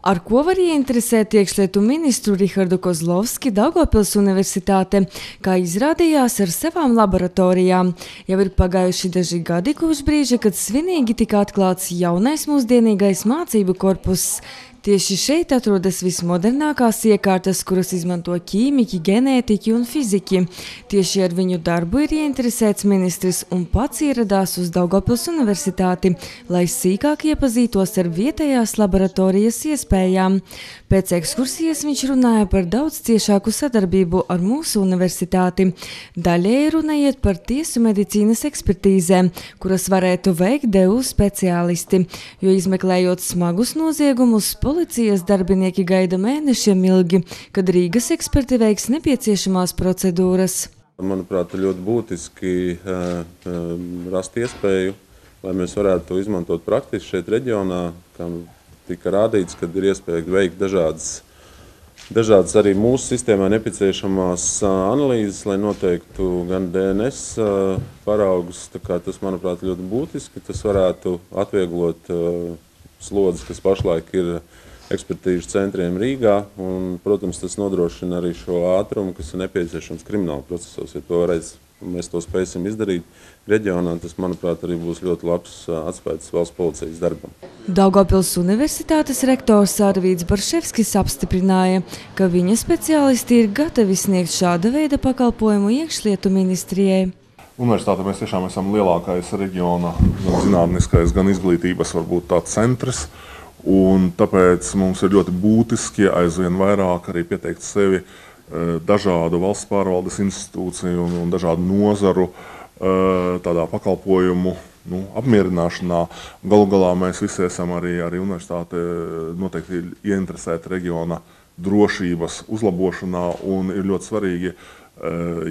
Ar ko var ieinteresēt iekšlietu ministru Rihardu Kozlovski Daugavpils Universitāte, kā izrādījās ar savām laboratorijām. Jau ir pagājuši daži gadi kopš brīža, kad svinīgi tika atklāts jaunais mūsdienīgais mācību korpuss. Tieši šeit atrodas vismodernākās iekārtas, kuras izmanto ķīmiķi, ģenētiķi un fiziķi. Tieši ar viņu darbu ir ieinteresēts ministrs un pats ieradās uz Daugavpils Universitāti, lai sīkāk iepazītos ar vietējās laboratorijas iespējām. Pēc ekskursijas viņš runāja par daudz ciešāku sadarbību ar mūsu universitāti. Daļēji runa iet par tiesu medicīnas ekspertīzēm, kuras varētu veikt DU speciālisti, jo izmeklējot smagus noziegumus, policijas darbinieki gaida mēnešiem ilgi, kad Rīgas eksperti veiks nepieciešamās procedūras. Manuprāt, ir ļoti būtiski rast iespēju, lai mēs varētu to izmantot praktiski šeit reģionā, kam tika rādīts, kad ir iespēja veikt dažādas arī mūsu sistēmā nepieciešamās analīzes, lai noteiktu gan DNS paraugus. Tas, manuprāt, ļoti būtiski. Tas varētu atvieglot slodzes, kas pašlaik ir ekspertīžu centriem Rīgā, un, protams, tas nodrošina arī šo ātrumu, kas ir nepieciešams krimināla procesos. Ja mēs to spēsim izdarīt reģionā, tas, manuprāt, arī būs ļoti labs atspējas valsts policijas darbam. Daugavpils Universitātes rektors Arvīds Barševskis apstiprināja, ka viņa speciālisti ir gatavi sniegt šāda veida pakalpojumu iekšlietu ministrijai. Universitāte mēs tiešām esam lielākais reģiona gan zinātniskais, gan izglītības varbūt tāds centrs, un tāpēc mums ir ļoti būtiski aizvien vairāk arī pieteikt sevi dažādu valsts pārvaldes institūciju un dažādu nozaru tādā pakalpojumu apmierināšanā. Galu galā mēs visi esam arī universitāte noteikti ieinteresēti reģiona drošības uzlabošanā, un ir ļoti svarīgi,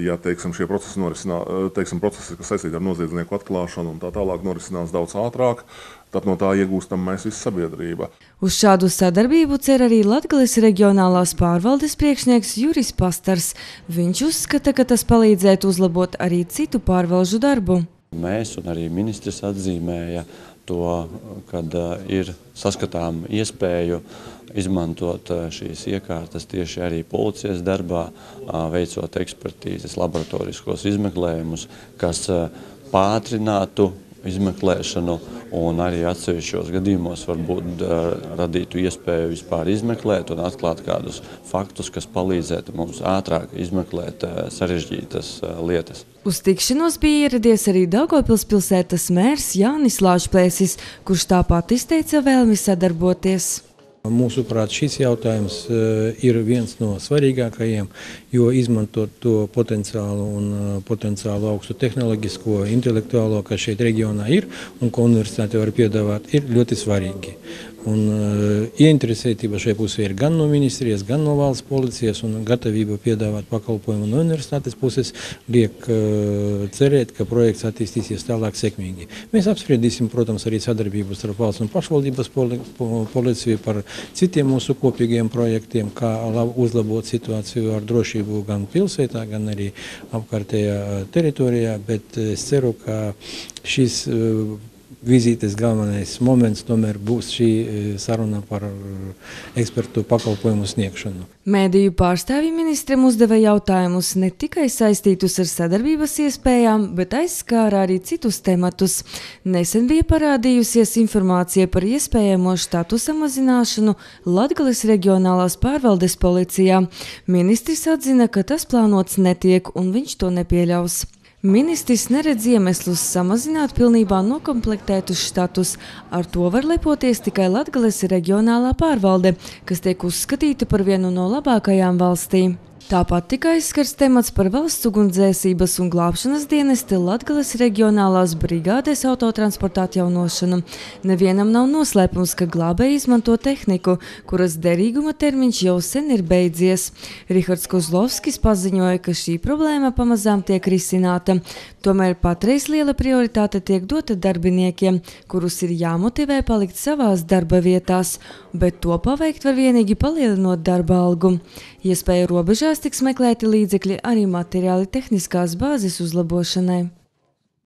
ja šie procesi, kas saistīti ar noziedznieku atklāšanu un tā tālāk norisinās daudz ātrāk, tad no tā iegūstam mēs visa sabiedrība. Uz šādu sadarbību cer arī Latgales reģionālās pārvaldes priekšnieks Juris Pastars. Viņš uzskata, ka tas palīdzētu uzlabot arī citu pārvalžu darbu. Mēs un arī ministrs atzīmēja to, kad ir saskatām iespēju izmantot šīs iekārtas tieši arī policijas darbā, veicot ekspertīzes, laboratoriskos izmeklējumus, kas pātrinātu izmeklēšanu un arī atsevišķos gadījumos varbūt radītu iespēju vispār izmeklēt un atklāt kādus faktus, kas palīdzētu mums ātrāk izmeklēt sarežģītas lietas. Uz tikšanos bija ieradies arī Daugavpils pilsētas mērs Jānis Lāčplēsis, kurš tāpat izteica vēlmi sadarboties. Mūsuprāt, šis jautājums ir viens no svarīgākajiem, jo izmantot to potenciālu augstu tehnoloģisko, intelektuālo, kas šeit reģionā ir un ko universitāte var piedāvāt, ir ļoti svarīgi. Un ieinteresētība šai pusē ir gan no ministrijas, gan no valsts policijas, un gatavība piedāvāt pakalpojumu no universitātes puses liek cerēt, ka projekts attīstīsies tālāk sekmīgi. Mēs apspriedīsim, protams, arī sadarbību starp valsts un pašvaldības policiju par citiem mūsu kopīgiem projektiem, kā uzlabot situāciju ar drošību gan pilsētā, gan arī apkārtējā teritorijā, bet es ceru, ka šis vizītes galvenais moments tomēr būs šī saruna par ekspertu pakalpojumu sniegšanu. Mēdīju pārstāvji ministram uzdeva jautājumus ne tikai saistītus ar sadarbības iespējām, bet aizskāra arī citus tematus. Nesen bija parādījusies informācija par iespējamo štatu samazināšanu Latgales reģionālās pārvaldes policijā. Ministrs atzina, ka tas plānots netiek un viņš to nepieļaus. Ministrs neredz iemeslus samazināt pilnībā nokomplektētus štatus. Ar to var lepoties tikai Latgales reģionālā pārvalde, kas tiek uzskatīta par vienu no labākajām valstī. Tāpat tika aizskars temats par valsts ugunsdzēsības un glābšanas dienesta Latgales reģionālās brigādes autotransporta atjaunošanu. Nevienam nav noslēpums, ka glābēji izmanto tehniku, kuras derīguma termiņš jau sen ir beidzies. Rihards Kozlovskis paziņoja, ka šī problēma pamazām tiek risināta. Tomēr patreiz liela prioritāte tiek dota darbiniekiem, kurus ir jāmotivē palikt savās darba vietās, bet to paveikt var vienīgi palielinot darba algu. Iespēja robežās tiks meklēti līdzekļi arī materiāli tehniskās bāzes uzlabošanai.